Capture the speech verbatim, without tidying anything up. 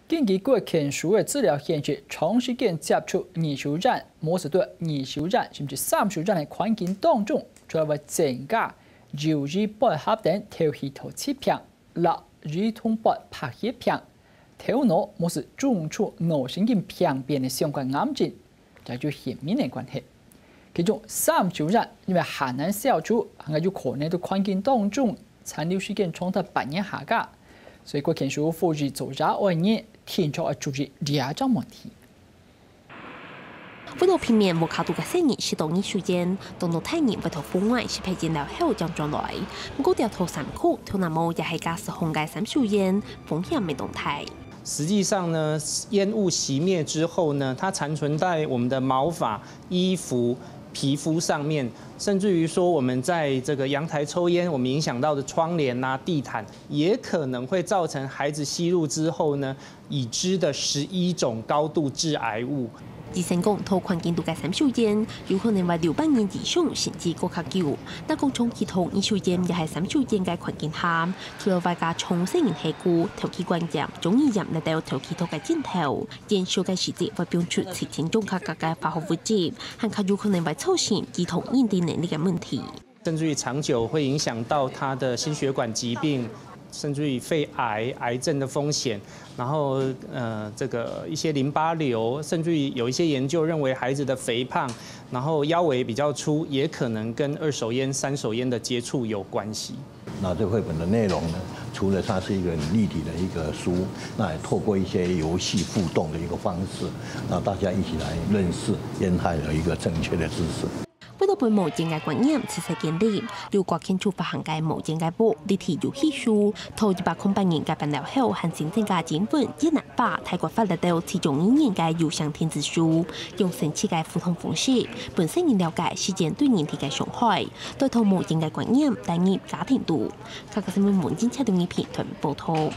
根據國健署个資料顯示，長時間接觸二手煙，無係對二手煙甚至三手煙个環境當中，除了會增加憂鬱、敗血等頭系統疾病、落兒童發白血病、頭腦無係中出腦神經病變个相關癌症， 這就顯明个關係。其中三手煙因為還難消除，還有可能在環境當中殘留時間長達半年下加，所以國健署呼籲做這愛人定著愛注意這種問題。為了避免屋下肚个細人食到二手煙，當多大人會在戶外食飯忒了後正轉來。毋過掉頭衫褲、頭那毛也係加使用个三手煙，風險乜當大。 實際上呢，煙霧熄滅之後呢，它殘存在我們的毛髮、衣服、皮膚上面，甚至於說我們在這個陽台抽煙，我們影響到的窗簾啊、地毯，也可能會造成孩子吸入之後呢，已知的十一種高度致癌物。醫生講，在環境肚个三手煙，有可能會留半年以上，甚至過較久。 若講長期抽二手煙也係三手煙个環境下，除了會加重細人下肢、頭皮關節、中耳炎來到頭皮頭个症頭，煙燒个時節會放出七千種較加个化學物質，還較有可能會造成兒童認知能力个問題。甚至於長久會影響到他的心血管疾病，甚至於肺癌、癌症的風險，然後呃這個一些淋巴瘤，甚至於有一些研究認為孩子的肥胖， 然後腰圍比較粗，也可能跟二手煙、三手煙的接觸有關係。那這繪本的內容呢，除了它是一個很立體的一個書，那也透過一些遊戲互動的一個方式，那大家一起來認識煙害的一個正確的知識。為了分無煙个觀念自細建立，由國健署發行个無煙个屋立體遊戲書，頭一百空八年个辦了後，還新增加英文、越南 話、泰國話來到七種語言个有聲電子書，用生趣个互動方式，分細人了解時間對人體个傷害，帶動無煙个觀念帶入家庭肚。客家新聞文正車等一篇報導。